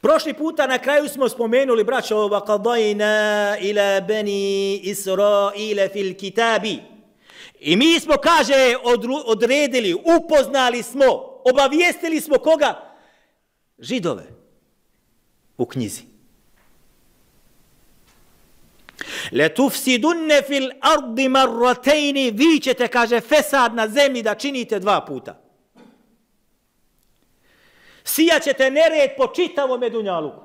Prošli puta na kraju smo spomenuli, braćo, وَقَضَيْنَا إِلَى بَنِي إِسْرَائِيلَ فِي الْكِتَابِ. I mi smo, kaže, odredili, upoznali smo, obavijestili smo koga? Židove u knjizi. لَتُفْسِدُنَّ فِي الْأَرْضِ مَرَّتَيْنِ. Vi ćete, kaže, fesad na zemlji da činite 2 puta. Sijat ćete nered po čitavom dunjaluku.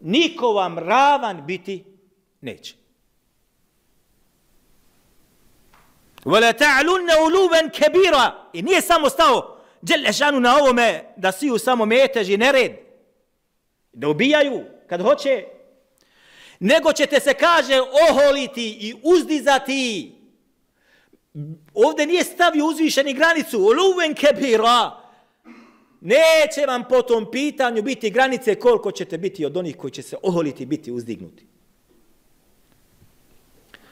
Niko vam ravan biti neće. وَلَا تَعْلُنَّ عُلُوًا كَبِيرًا. I nije samo stao Đelešanu na ovome da siju samo metež i nered, da ubijaju kad hoće, nego ćete se, kaže, oholiti i uzdizati. Ovdje nije stavio uzvišeni granicu. عُلُوًا كَبِيرًا. Neće vam po tom pitanju biti granice koliko ćete biti od onih koji će se oholiti, biti uzdignuti.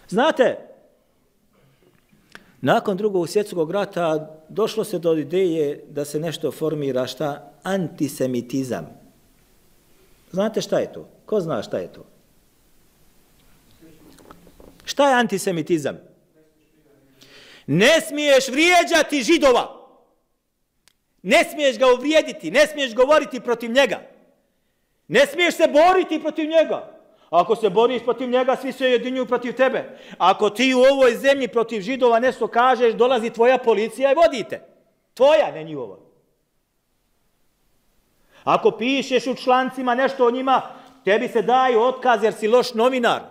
Znate, nakon Drugog svjetskog rata došlo se do ideje da se nešto formira, šta? Antisemitizam. Znate šta je to? Ko zna šta je to? Šta je antisemitizam? Ne smiješ vrijeđati Židova. Ne smiješ ga uvrijediti, ne smiješ govoriti protiv njega. Ne smiješ se boriti protiv njega. Ako se boriš protiv njega, svi se jedinjuju protiv tebe. Ako ti u ovoj zemlji protiv Židova nešto kažeš, dolazi tvoja policija i vodite. Tvoja, ne njihova. Ako pišeš u člancima nešto o njima, tebi se daju otkaz jer si loš novinar.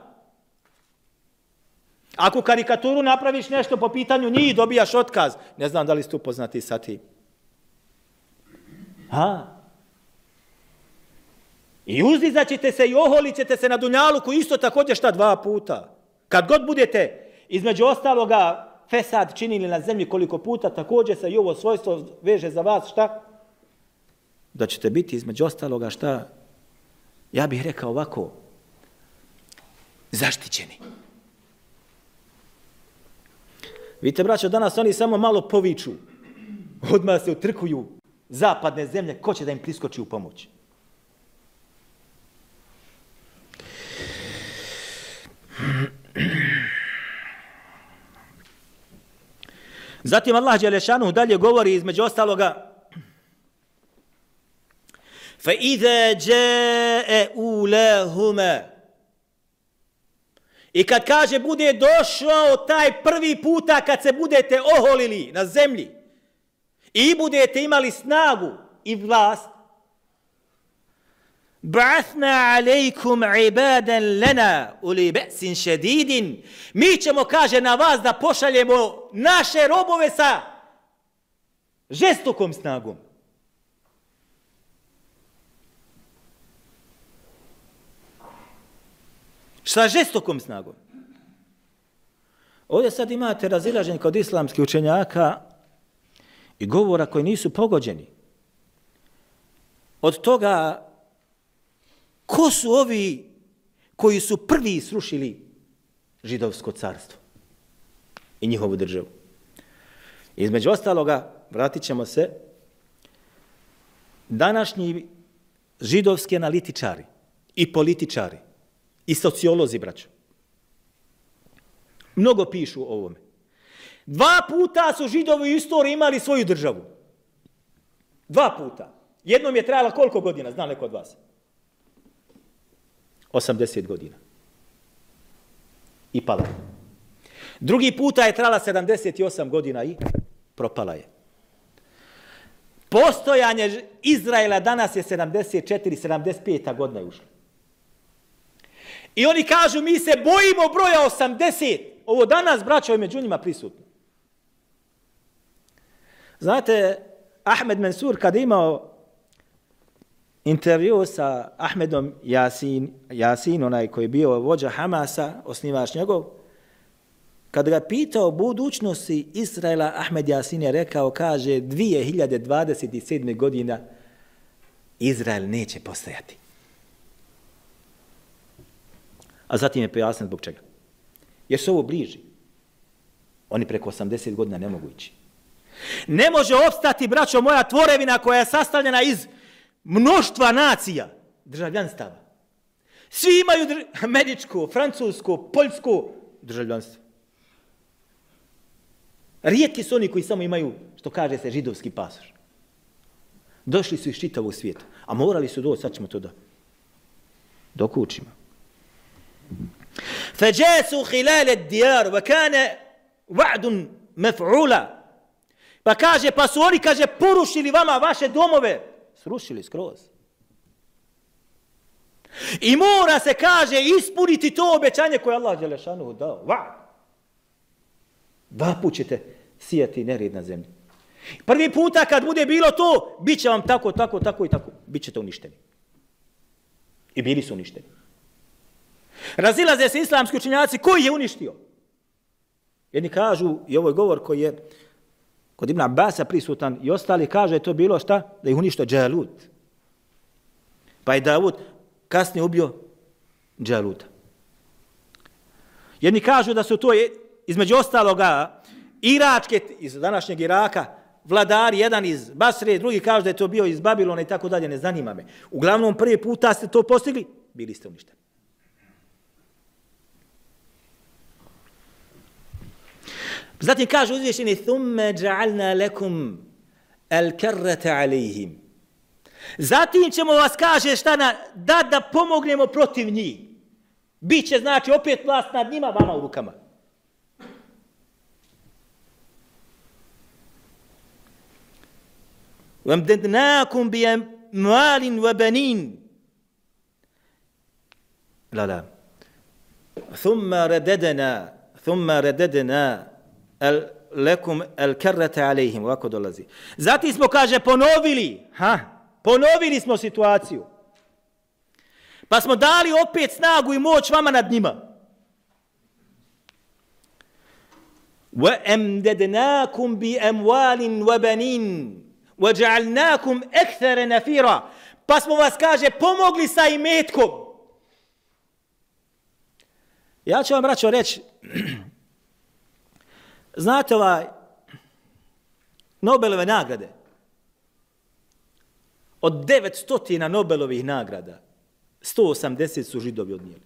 Ako karikaturu napraviš nešto po pitanju njih, dobijaš otkaz. Ne znam da li ste upoznati sa tim. I uzdizat ćete se i oholit ćete se na dunjaluku isto također šta 2 puta. Kad god budete između ostaloga fesad činili na zemlji koliko puta, također se i ovo svojstvo veže za vas šta? Da ćete biti između ostaloga šta? Ja bih rekao ovako, zaštićeni. Vidite, braćo, danas oni samo malo poviču, odmah se utrkuju zapadne zemlje, ko će da im priskoči u pomoć? Zatim Allah Đelešanu dalje govori između ostaloga فَإِذَا جَاءَ أُولَاهُمَا. I kad kaže bude došao taj prvi puta kad se budete oholili na zemlji i budete imali snagu i vlast, ba'athna alejkum ibadan lana uli ba'sin šedidin. Mi ćemo, kaže, na vas da pošaljemo naše robove sa žestokom snagom. Sa žestokom snagom. Ovdje sad imate razilaženje kod islamskih učenjaka i govora koji nisu pogođeni. Od toga, ko su ovi koji su prvi srušili židovsko carstvo i njihovu državu? Između ostaloga, vratit ćemo se, današnji židovski analitičari i političari i sociolozi, braćo, mnogo pišu o ovome. 2 puta su Židovi u istoriji imali svoju državu. 2 puta. Jednom je trajala koliko godina, zna neko od vas? 80 godina. I pala. Drugi puta je trajala 78 godina i propala je. Postojanje Izraela danas je 74-75 godina je ušlo. I oni kažu, mi se bojimo broja 80. Ovo danas, braćo, je među njima prisutno. Znate, Ahmed Mansur kad je imao intervju sa Ahmedom Jasin, onaj koji je bio vođa Hamasa, osnivač njegov, kad ga pitao o budućnosti Izraela, Ahmed Jasin je rekao, kaže, 2027. godina Izrael neće postojati. A zatim je pojasnio zbog čega. Jer su ovo bliži. Oni preko 80 godina ne mogu ići. Ne može opstati, braćo moja, tvorevina koja je sastavljena iz mnoštva nacija, državljanstava. Svi imaju američko, francusko, poljsko državljanstvo. Rijetki su oni koji samo imaju, što kaže se, židovski pasoš. Došli su iz čitavog svijeta, a morali su doći, sad ćemo to da dokučimo. فَجَاسُوا خِلَالَ الدِّيَارِ وَكَانَ وَعْدٌ مَفْعُولًا. Pa kaže, pa su oni, kaže, porušili vama vaše domove. Srušili skroz. I mora se, kaže, ispuniti to obećanje koje Allah Đelešanuhu dao. Dva put ćete sijati nered na zemlji. Prvi puta kad bude bilo to, bit će vam tako, tako, tako i tako. Bićete uništeni. I bili su uništeni. Razilaze se islamski učenjaci, koji je uništio? Jedni kažu, i ovo je govor koji je kod Ibn Abbasa prisutan, i ostali kaže je to bilo šta? Da ih uništio Džalut. Pa je Davud kasnije ubio Džaluta. Jedni kažu da su to između ostaloga iračke, iz današnjeg Iraka, vladari, jedan iz Basre, drugi kažu da je to bio iz Babilona i tako dalje, ne zanima me. Uglavnom, prvi puta ste to postigli, bili ste uništeni. Zatim kaže uzvišeni ثُمَّ جَعَلْنَا لَكُمْ الْكَرَّةَ عَلَيْهِمْ. Zatim ćemo vas, kaže, šta da pomognemo protiv njih. Biće, znači, opet vlast nad njima, vama u rukama. وَمْدَدْنَاكُمْ بِيَمْوَالٍ وَبَنِينَ. لا ثُمَّ رَدَدْنَا lekum el karrata alejhim, ovako dolazi. Zatim smo, kaže, ponovili smo situaciju. Pa smo dali opet snagu i moć vama nad njima. Wa amdadnakum bi amwalin wa banin wa ja'alnakum akthara nafira. Pa smo vas, kaže, pomogli sa imetkom. Ja ću vam, braćo, reći, znate Nobelove nagrade, od 900 Nobelovih nagrada, 180 su Židovi odnijeli.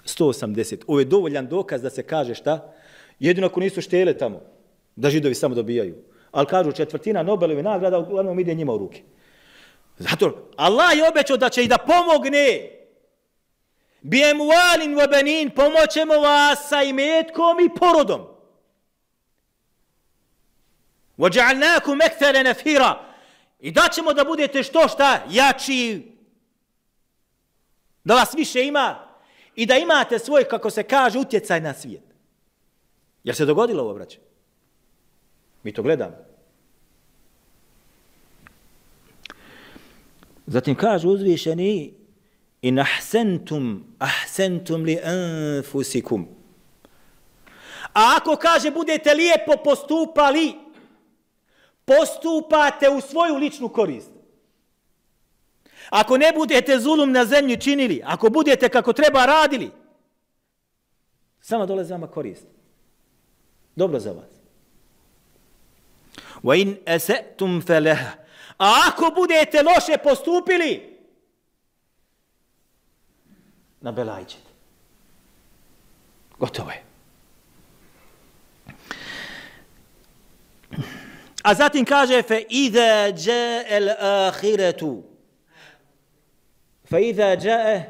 180. Ovo je dovoljan dokaz da se kaže šta? Jedino ako nisu štele tamo, da Židovi samo dobijaju. Ali kažu, 1/4 Nobelovih nagrada uglavnom ide njima u ruke. Zato Allah je obećao da će i da pomogne. Bi'emwalin wa banin, pomoćemo vas sa imetkom i porodom. Wa ja'alnakum akthara nafira. I daćemo da budete šta jači, da vas više ima i da imate svoj, kako se kaže, utjecaj na svijet. Jel se dogodilo ovo, braće? Mi to gledamo. Zatim kaže uzvišeni: in ahsentum li anfusikum. A ako, kaže, budete lijepo postupali, postupate u svoju ličnu korist. Ako ne budete zulum na zemlji činili, ako budete kako treba radili, samo dolazi vama korist. Dobro za vas. Wa in asa'tum falaha. A ako budete loše postupili, na belaj ćete. Gotovo je. A zatim kaže fa iza jaa al-akhiratu. Fa iza jaa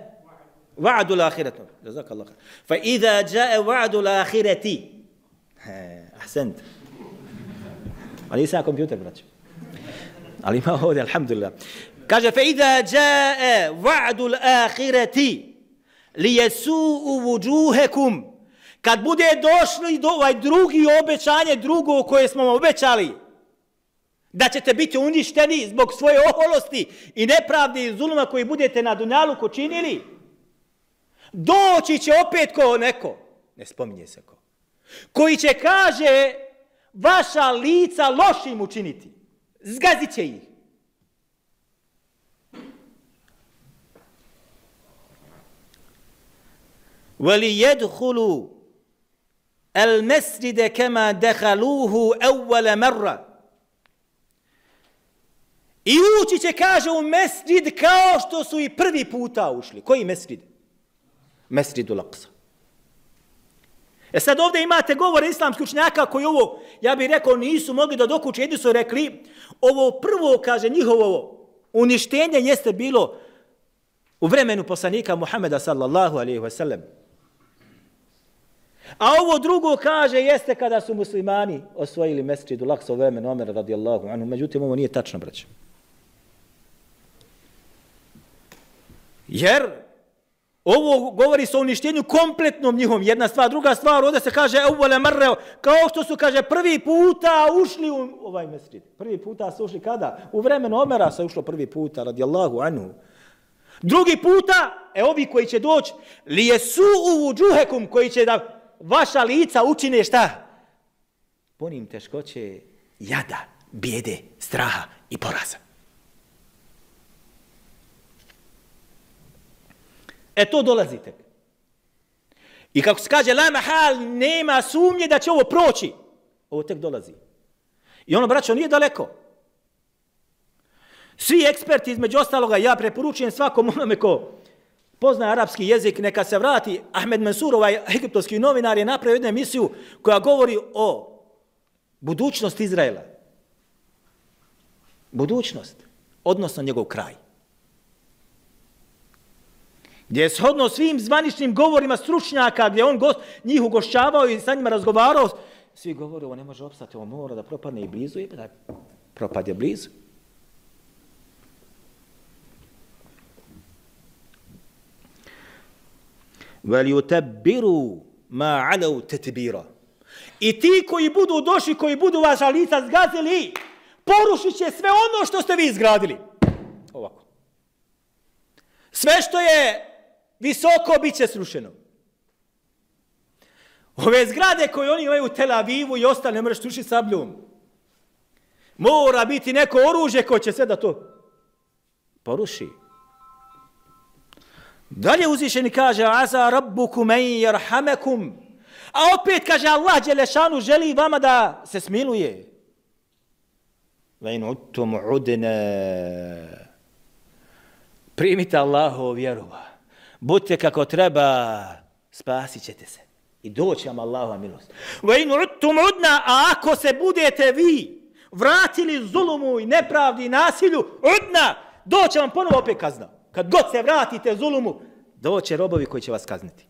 wa'du al-akhirati. Jazakallahu khair. Fa iza jaa wa'du al-akhirati. Ahsant. Ali sa kompjuter, braćo. Ali ima ovdje, alhamdulillah. Kaže fa iza jaa wa'du al-akhirati lijesu'u vujuhekum. Kad bude došli do ovaj drugi obećanje, drugo koje smo vam obećali, da ćete biti uništeni zbog svoje oholosti i nepravde i zuluma koji budete na dunjaluku činili, doći će opet ko neko, ne spominje se ko, koji će, kaže, vaša lica lošim učiniti. Zgazit će ih. وَلِيَدْخُلُوا الْمَسْجِدَ كَمَا دَخَلُوهُ أَوَّلَ مَرَّةٍ. I ući će, kaže, u mesdžid kao što su i prvi puta ušli. Koji mesdžid? Mesdžidul Aqsa. Sad ovdje imate govore islamskih učenjaka koji ovo, ja bih rekao, nisu mogli da dokuče. Jedni su rekli, ovo prvo, kaže, njihovo uništenje jeste bilo u vremenu poslanika Muhameda sallallahu alejhi ve sellem. A ovo drugo, kaže, jeste kada su muslimani osvojili Mesdžidul Aqsa u vremenu Omera radijallahu anhu. Međutim, ovo nije tačno, braćo. Jer ovo govori se o uništenju kompletnom njihovom. Jedna stvar, druga stvar, ovdje se kaže evvele marre, kao što su, kaže, prvi puta ušli u ovaj mesdžid. Prvi puta su ušli kada? U vremenu Omera se ušlo prvi puta, radijallahu anhu. Drugi puta, ovi koji će doći, li je su u džuhekum, koji će da vaša lica učine šta? Ponim teškoće jada, bijede, straha i poraza. To dolazite. I kako se kaže, la mahal, nema sumnje da će ovo proći. Ovo tek dolazi. I ono, braćo, nije daleko. Svi eksperti, između ostaloga, ja preporučujem svakom onome ko pozna arapski jezik, neka se vrati. Ahmed Mansur, ovaj egiptovski novinar, je napravio jednu emisiju koja govori o budućnosti Izraela. Budućnost, odnosno njegov kraj. Gdje je shodno svim zvaničnim govorima stručnjaka, gdje on njih ugošćavao i sa njima razgovarao, svi govore, ovo ne može opstati, ovo mora da propadne i blizu, i da propad je blizu. وَلْيُتَبِّرُوا مَا عَلَوْ تَتْبِيرًا. I ti koji budu došli, koji budu vaša lica zgazili, porušit će sve ono što ste vi izgradili. Ovako. Sve što je visoko bit će srušeno. Ove zgrade koje oni imaju u Tel Avivu i ostale ne možeš srušiti sabljom. Mora biti neko oružje koje će sve da to poruši. Dalje uzvišeni kaže asa rabbukum en yarhamakum. A opet kaže Allah dželešanu želi vama da se smiluje. Wa in uttum udna. Primite Allahovu vjeru. Budite kako treba, spasit ćete se. I doći vam Allahova milost. Wa in uttum udna, a ako se budete vi vratili zulumu i nepravdi i nasilju, udna, doći vam ponovo opet kazna. Kad god se vratite zulumu, doće robovi koji će vas kazniti.